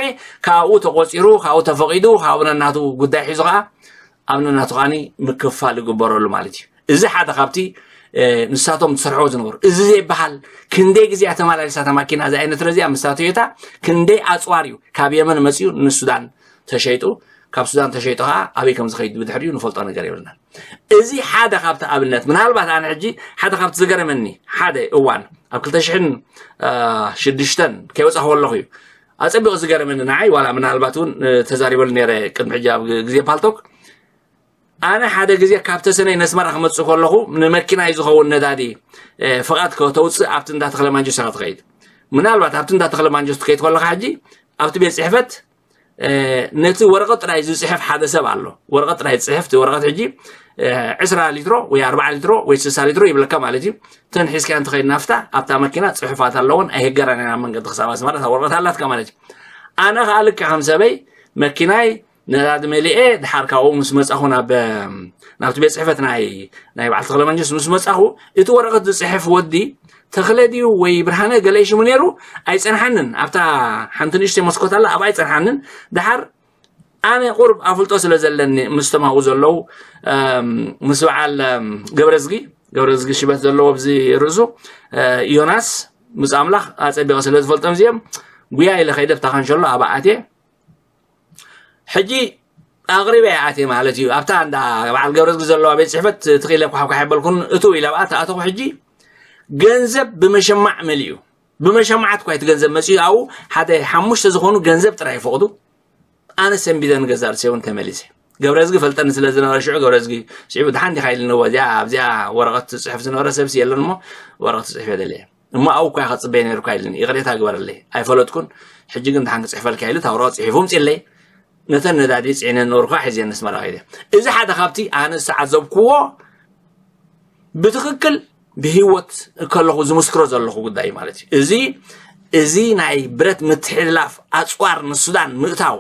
ካብኡ ተቆጺሩ ካብኡ ተፈቂዱ ካብኡ ነናቱ ጉዳይ ሒዙ ከዓ ኣብ ነናቱ ከዓኒ ምክፍፋል ይግበረሉ ማለት እዩ። እዚ ሓደ ካብቲ ንሳቶም ዝሰርሕዎ ዝነበሩ እዚ ዘይበሃል ክንደይ ግዜ ተመላሊሳ እታ ማኪና እዛ ኤነትረ እዚኣ ምስታ ቶዮታ ክንደይ ኣፅዋር እዩ ካብ የመን መፅኡ ንሱዳን ተሸይጡ ካብ ሱዳን ተሸይጡ ከዓ ኣበይ ከም ዝኸይድ ብድሕሪኡ ንፈልጦ ነገር የብልናን። እዚ ሓደ ካብቲ ኣብነት ምናልባት ኣነ ሕጂ ሓደ ካብቲ ዝገረመኒ ሓደ እዋን ኣብ ክልተ ሽሕን ሽዱሽተን ከይወፃኹ ኣለኹ እዩ ኣፀቢቑ ዝገረመኒ ንዓይ ዋላ ምናልባት እውን ተዛሪበሉ ነረ ቅድሚ ሕጂ ኣብ ግዜ ፓልቶክ ኣነ ሓደ ግዜ ካብ ተሰነይ ነስመራ ክመፅእ ከለኹ ንመኪናይ ዝኸውን ነዳዲ ፍቓድ ከተውፅእ ኣብቲ እንዳ ተኽለ ማንጆስ ኢኻ ትኸይድ። ምናልባት ኣብቲ እንዳ ተኽለ ማንጆስ ትከይድ ከለኻ ሕጂ ኣብቲ ቤት ፅሕፈት ነቲ ወረቐት ጥራይ ዝፅሕፍ ሓደ ሰብ ኣሎ። ወረቐት ጥራይ ዝፅሕፍ እቲ ወረቐት ሕጂ ዕስራ ሊትሮ ወይ ኣርባዓ ሊትሮ ወይ ስሳ ሊትሮ ይብለካ ማለት እዩ። እተን ሒዝካ እንተኸይድ ናፍታ ኣብታ መኪና ፅሑፋት ኣለዎን ኣይህገራን ኢና መንገዲ ክሳብ ኣስመራ እታ ወረቐት ኣላትካ ማለት እዩ። ኣነ ከዓ ልክዕ ከም ሰበይ መኪናይ ነዳዲ መሊኤ ድሓር ካብኡ ምስ መጻኹ ናብ ናብቲ ቤት ጽሕፈት ናይ ናይ በዓል ተኽለ መንግስት ምስ መጻኹ፣ እቲ ወረቐት ዝጽሕፍ ወዲ ተኽለ ድዩ ወይ ብርሃነ ገለ ሽሙ ነይሩ፣ ኣይጸንሓንን። ኣብታ ሓንቲ ንእሽተይ መስኮት ኣላ፣ ኣብኣ ኣይጸንሓንን። ድሓር ኣነ ቁርብ ኣፍልጦ ስለ ዘለኒ ምስ ተማኡ ዘለዉ ምስ በዓል ገብረዝጊ ገብረዝጊ ሽበት ዘለዎ ኣብዚ ርእሱ ዮናስ ምስ ኣምላኽ ኣጸቢቐ ስለ ዝፈልጦም እዚኦም፣ ጉያ ኢለ ከይደ ብታ ካንሸሎ ኣብኣ ኣትየ። ሕጂ ኣቕሪበ እየ ኣትየ ማለት እዩ። ኣብታ እንዳ በዓል ገብረዝጊ ዘለዋ ቤት ጽሕፈት ትኽኢለ ኳሕኳሕ የበልኩን፣ እትው ኢለ ኣብኣ ተኣተኹ። ሕጂ ገንዘብ ብመሸማዕ መሊኡ፣ ብመሸማዓት እኳ እቲ ገንዘብ መጺኡ ኣብኡ ሓደ ሓሙሽተ ዝኾኑ ገንዘብ ጥራይ ይፈቕዱ። ኣነ ሰንቢደ ንገዛእ ርእሰይ እውን ተመሊሰ። ገብረዝጊ ፈልጠኒ ስለ ዝነበረ ሽዑ ገብረዝጊ ስዒቡ፣ "ደሓን ዲኻ?" ኢልኒ። እዚኣ ኣብዚኣ ወረቐት ትጽሕፍ ዝነበረ ሰብሲ የለን እሞ፣ "ወረቐት ትጽሕፍ እየ ደልየ እሞ ኣብኡ እኳ ኢኻ ትጽበየ ነይርካ" ኢልኒ። "ይቕሬታ ግበረለይ፣ ኣይፈለጥኩን። ሕጂ ግን ደሓን ክጽሕፈልካ" ኢሉ እታ ወረቐት ጽሒፉ ኣምጺእለይ። ነተን ነዳዲ ጽዒነ ነበርኳ፣ ሒዘ ንስመራ ከይደ። እዚ ሓደ ካብቲ ኣነ ዝተዓዘብክዎ ብትኽክል ብህይወት ከለኹ ዝምስክሮ ዘለኹ ጉዳይ ማለት እዩ። እዚ እዚ ናይ ብረት ምትሕልላፍ ኣጽዋር ንሱዳን ምእታው፣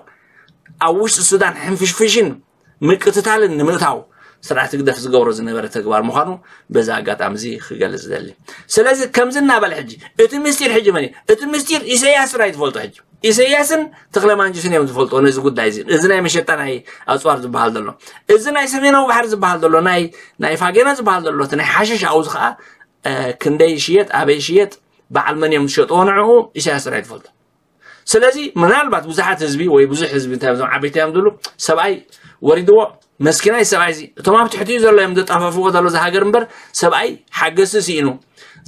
ኣብ ውሽጢ ሱዳን ሕንፍሽፍሽን ምቅትታልን ንምእታው ስርዓት ህግደፍ ዝገብሮ ዝነበረ ተግባር ምዃኑ በዚ ኣጋጣሚ እዚ ክገልጽ ዝደሊ። ስለዚ ከምዚ እናበለ ሕጂ እቲ ምስጢር ሕጂ መን እዩ? እቲ ምስጢር ኢሳያስ ጥራይ ዝፈልጦ ሕጂ። ኢሳያስን ተኽለ ማንጁስን እዮም ዝፈልጦ ነዚ ጉዳይ እዚ። እዚ ናይ መሸጣ ናይ ኣጽዋር ዝበሃል ዘሎ፣ እዚ ናይ ሰሜናዊ ባሕሪ ዝበሃል ዘሎ፣ ናይ ናይ ፋጌና ዝበሃል ዘሎ፣ እቲ ናይ ሓሽሽ ኣውዚ ከዓ እ፣ ክንደይ ይሽየጥ፣ ኣበይ ይሽየጥ፣ በዓል መን እዮም ዝሸጥዎ ንዕኡ ኢሳያስ ጥራይ ትፈልጦ። ስለዚ ምናልባት ብዙሓት ህዝቢ ወይ ብዙሕ ህዝቢ እንታይ እዞም ዓበይቲ እዮም ዝብሉ፣ ሰብኣይ ወሪድዎ መስኪናይ ሰብኣይ እዚ፣ እቶም ኣብ ትሕቲኡ ዘሎ እዮም ዘጣፋፍዎ ዘሎ እዚ ሃገር እምበር ሰብኣይ ሓገዝቲ ስኢኑ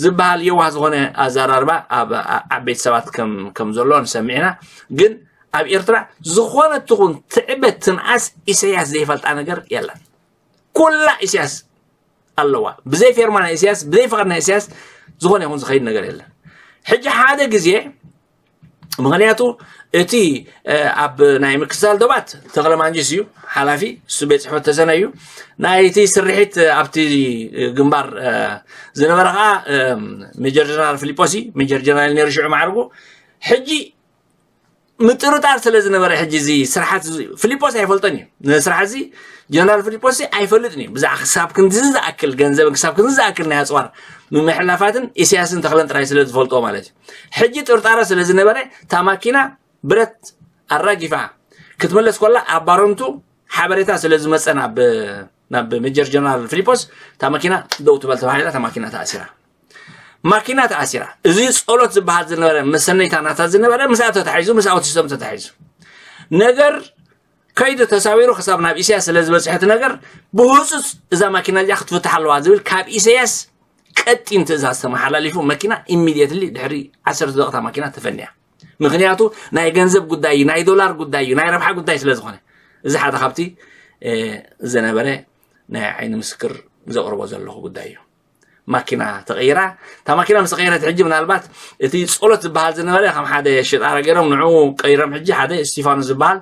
ዝበሃል የዋህ ዝኾነ ኣዘራርባ ኣብ ዓ-፣ ዓበይቲ ሰባት ከም ከም ዘሎ ንሰምዕ ኢና። ግን ኣብ ኤርትራ ዝኾነት ትኹን ትዕበት ትንኣስ ኢሳያስ ዘይፈልጣ ነገር የለን። ኩላ ኢሳያስ ኣለዋ። ብዘይ ፌርማ ናይ ኢሳያስ፣ ብዘይ ፍቓድ ናይ ኢሳያስ ዝኾነ ይኹን ዝኸይድ ነገር የለን። ሕጂ ሓደ ግዜ፣ ምኽንያቱ እቲ እ፣ ኣብ ናይ ምክትታል ዶባት ተኽለ ማንጂስ እዩ ሓላፊ፣ እሱ ቤት ጽሕፈት ተሰነ እዩ። ናይቲ ስርሒት ኣብቲ ግንባር እ፣ ዝነበረ ከዓ እ፣ ሜጀር ጀነራል ፊሊጶስ እዩ። ሜጀር ጀነራል ነይሩ ሽዑ ማዕርጉ። ሕጂ ምጥርጣር ስለ ዝነበረ ሕጂ እዚ ስርሓት እዚ ፊሊጶስ ኣይፈልጦን እዩ። ንስራሕ እዚ ጀነራል ፊሊጶስ እዚ ኣይፈልጥን እዩ። ብዛዕባ ክሳብ ክንድዚ ዝኣክል ገንዘብን ክሳብ ክንድዚ ዝኣክል ናይ ኣጽዋር ምምሕላፋትን ኢሳያስን ተኽለን ጥራይ ስለ ዝፈልጦ ማለት እዩ። ሕጂ ጥርጣረ ስለ ዝነበረ እታ ማኪና ብረት ኣራጊፋ ክትምለስ ኮላ ኣብ ባረንቱ ሓበሬታ ስለ ዝመጸ ናብ ናብ ሜጀር ጀነራል ፊሊጶስ እታ ማኪና ደው ትበል ተባሂላ እታ ማኪና ተኣሲራ። ማኪና ተኣሲራ። እዚ ጸሎት ዝበሃል ዝነበረ መሰነይታ ናታ ዝነበረ ምስኣ ተታሒዙ፣ ምስ ኣውቲስቶም ተታሒዙ። ነገር ከይዱ ተሳዊሩ ክሳብ ናብ ኢሳያስ ስለ ዝበጽሐ እቲ ነገር ብህጹጽ እዛ ማኪና እዚኣ ክትፍታሕ ኣለዋ ዝብል ካብ ኢሳያስ ቀጢን ትእዛዝ ተመሓላሊፉ መኪና ኢሚድየትሊ ድሕሪ ዓሰርተ ደቂቃ እታ ማኪና ተፈንያ። ምኽንያቱ ናይ ገንዘብ ጉዳይ እዩ፣ ናይ ዶላር ጉዳይ እዩ፣ ናይ ረብሓ ጉዳይ ስለ ዝኾነ። እዚ ሓደ ካብቲ እ፣ ዝነበረ ናይ ዓይኒ ምስክር ዘቕርቦ ዘለኹ ጉዳይ እዩ። ማኪና ተቐይራ። እታ ማኪና ምስ ተቐየረት ሕጂ ምናልባት እቲ ጸሎት ዝበሃል ዝነበረ ከም ሓደ ሽጣራ ገይሮም ንዕኡ ቀይሮም ሕጂ ሓደ እስቲፋኖስ ዝበሃል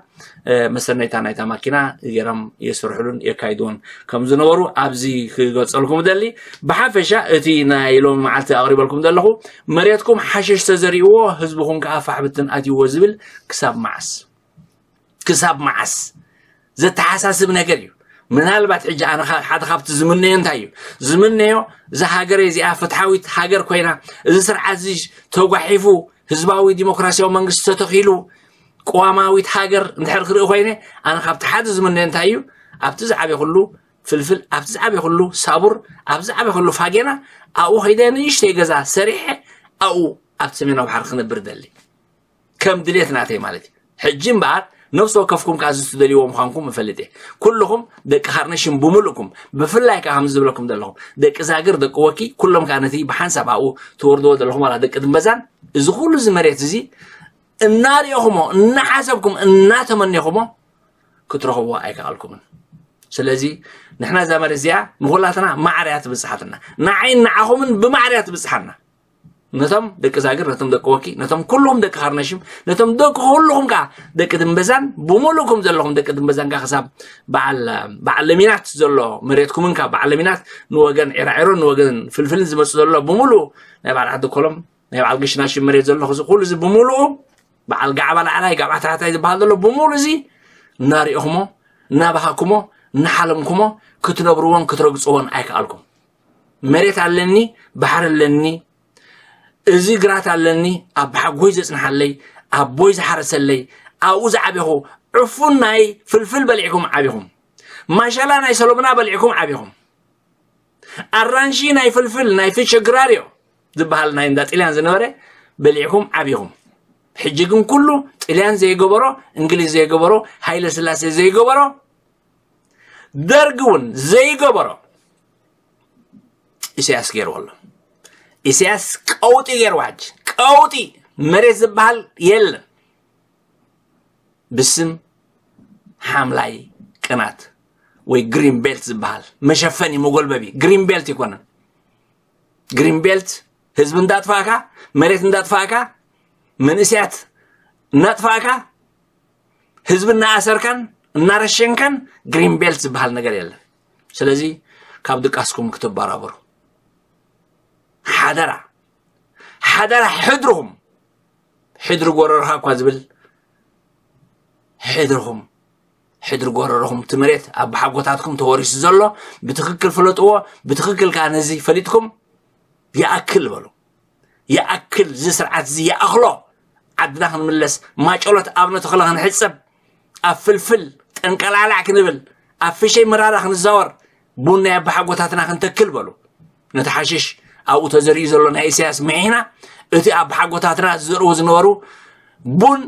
እ፣ መሰነይታ ናይታ ማኪና ገይሮም የስርሕሉን የካይድዎን ከም ዝነበሩ ኣብዚ ክገልጸልኩም እደሊ። ብሓፈሻ እቲ ናይ ሎሚ መዓልቲ ኣቕሪበልኩም ዘለኹ መሬትኩም ሓሽሽ ተዘሪእዎ ህዝብኹም ከዓ ፋሕብትን ኣትይዎ ዝብል ክሳብ መዓስ? ክሳብ መዓስ? ዘተሓሳስብ ነገር እዩ። ምናልባት ሕጂ ኣነ ኻ-፣ ሓደ ካብቲ ዝምነዮ እንታይ እዩ? ዝምነዮ እዛ ሃገር እዚኣ ፍትሓዊት ሃገር ኮይና፣ እዚ ስርዓት እዚ ተጓሒፉ፣ ህዝባዊ ዲሞክራሲያዊ መንግስቲ ተተኺሉ፣ ቅዋማዊት ሃገር እንድሕር ክርኢ ኮይነ፣ ኣነ ካብቲ ሓደ ዝምነዮ እንታይ እዩ? ኣብቲ ዝዓበየ ኩሉ ፍልፍል፣ ኣብቲ ዝዓበየ ኩሉ ሳቡር፣ ኣብ ዝዓበየ ኩሉ ፋጌና፣ ኣብኡ ከይደ ንእሽተይ ገዛ ሰሪሐ፣ ኣብኡ ኣብቲ ሰሜናዊ ባሕሪ ክነብር ደሊ። ከም ድሌት ናተይ ማለት እዩ። ሕጂ እምበኣር ነፍሲ ወከፍኩም ከኣ እዚ ትደልይዎ ምዃንኩም እፈልጥ እየ። ኩልኹም ደቂ ካርነሽም ብምሉእኩም፣ ብፍላይ ከኣ ከምዚ ዝብለኩም ዘለኹም፣ ደቂ ዛግር፣ ደቂ ወኪ፣ ኩሎም ከኣ ነቲ ብሓንሳብ ኣብኡ ትወርድዎ ዘለኹም ዋላ ደቂ ድምበዛን፣ እዚ ኩሉ እዚ መሬት እዚ እናርኤኹሞ፣ እናሓሰብኩም፣ እናተመኔኹሞ ክትረኽብዎ ኣይከኣልኩምን። ስለዚ ንሕና እዛ መሬት እዚኣ ንኹላትና ማዕረ እያ ትብጽሓትና። ንዓይን ንዓኹምን ብማዕረ እያ ትብጽሓና። ነቶም ደቂ ዛግር፣ ነቶም ደቂ ወኪ፣ ነቶም ኩልኹም ደቂ ካርነሽም፣ ነቶም ደቂ ኩልኹም ከኣ ደቂ ድምበዛን፣ ብምሉእኩም ዘለኹም ደቂ ድምበዛን ከኣ ክሳብ በዓል፣ በዓል ለሚናት ዘሎ መሬትኩምን ካብ በዓል ለሚናት ንወገን ዒራዒሮን ንወገን ፍልፍልን ዝመጽእ ዘሎ ብምሉኡ ናይ በዓል ዓዲ ኮሎም፣ ናይ በዓል ግሽናሽም መሬት ዘሎ እዚ ኩሉ እዚ ብምሉኡ በዓል ጋዕባ ላዕላይ፣ ጋዕባ ታሕታይ ዝበሃል ዘሎ ብምሉኡ እዚ እናሪእኹሞ፣ እናባሃኩሞ፣ እናሓለምኩሞ ክትነብርዎን ክትረግፅዎን ኣይከኣልኩም። መሬት ኣለኒ፣ ባሕሪ ኣለኒ፣ እዚ ግራት ኣለኒ፣ ኣቦሓጎይ ዘፅንሓለይ፣ ኣቦይ ዝሓረሰለይ፣ ኣብኡ ዝዓበኹ። ዕፉን ናይ ፍልፍል በሊዕኩም ዓቢኹም። ማሸላ ናይ ሰሎምና በሊዕኩም ዓቢኹም። ኣራንሺ ናይ ፍልፍል ናይ ፊቸ ግራርዮ ዝበሃል ናይ እንዳ ጥልያን ዝነበረ በሊዕኩም ዓቢኹም። ሕጂ ግን ኩሉ ጥልያን ዘይገበሮ፣ እንግሊዝ ዘይገበሮ፣ ሃይለ ስላሴ ዘይገበሮ፣ ደርግ እውን ዘይገበሮ ኢሳያስ ገይርዎ ኣሎ። ኢሳያስ ቀውጢ ገይርዎ። ሕጂ ቀውጢ፣ መሬት ዝበሃል የለን። ብስም ሓምላይ ቅናት ወይ ግሪን ቤልት ዝበሃል መሸፈኒ መጎልበቢ፣ ግሪን ቤልት ይኮነን። ግሪን ቤልት ህዝቢ እንዳጥፋእካ፣ መሬት እንዳጥፋእካ፣ መንእሰያት እናጥፋእካ፣ ህዝቢ እናኣሰርካን እናረሸንካን ግሪን ቤልት ዝበሃል ነገር የለን። ስለዚ ካብ ድቃስኩም ክትበራበሩ ሓደራ፣ ሓደራ። ሕድርኹም፣ ሕድሪ ጎረርኻ እኳ ዝብል፣ ሕድርኹም፣ ሕድሪ ጎረርኹም፣ እቲ መሬት ኣቦሓጎታትኩም ተወሪሱ ዘሎ ብትኽክል ፍለጥዎ፣ ብትኽክል ከዓ ነዚ ፈሊጥኩም ይኣክል በሉ። ይኣክል፣ እዚ ስርዓት እዚ ይኣኽሎ። ዓድና ክንምለስ፣ ማጨሎት ኣብ ነተኽለ ክንሕጸብ፣ ኣብ ፍልፍል ጠንቀላዕላዕ ክንብል፣ ኣብ ፍሸይ መራራ ክንዛወር፣ ቡን ናይ ኣቦሓጎታትና ክንተክል በሉ። ነቲ ሓሽሽ ኣብኡ ተዘሪኡ ዘሎ ናይ ኢሳያስ ምሒና፣ እቲ ኣቦሓጎታትና ዝዘርዎ ዝነበሩ ቡን፣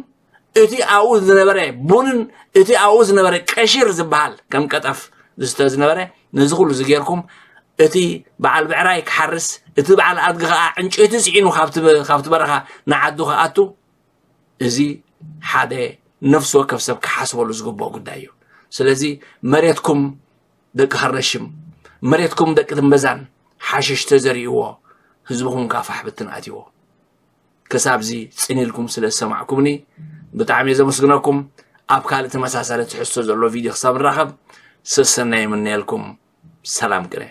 እቲ ኣብኡ ዝነበረ ቡንን እቲ ኣብኡ ዝነበረ ቀሺር ዝበሃል ከም ቀጠፍ ዝስተ ዝነበረ፣ ነዚ ኩሉ እዚ ጌርኩም፣ እቲ በዓል ብዕራይ ክሓርስ፣ እቲ በዓል ኣድጊ ኸዓ ዕንጨይቲ ጽዒኑ ካብቲ በ-፣ ካብቲ በረኻ ንዓዱ ክኣቱ፣ እዚ ሓደ ነፍሲ ወከፍ ሰብ ክሓስበሉ ዝግብኦ ጉዳይ እዩ። ስለዚ መሬትኩም ደቂ ሃረሽም፣ መሬትኩም ደቂ ትንበዛን ሓሽሽ ተዘሪእዎ፣ ህዝብኹም ከዓ ፋሕ ብትን ኣትይዎ። ክሳብዚ ጽን ኢልኩም ስለ ዝሰማዕኩምኒ ብጣዕሚ እየ ዘመስግነኩም። ኣብ ካልእ ተመሳሳሊ ትሕዝቶ ዘለዎ ቪድዮ ክሳብ ንራኸብ ሰሰናይ ይምነየልኩም። ሰላም ቅነ።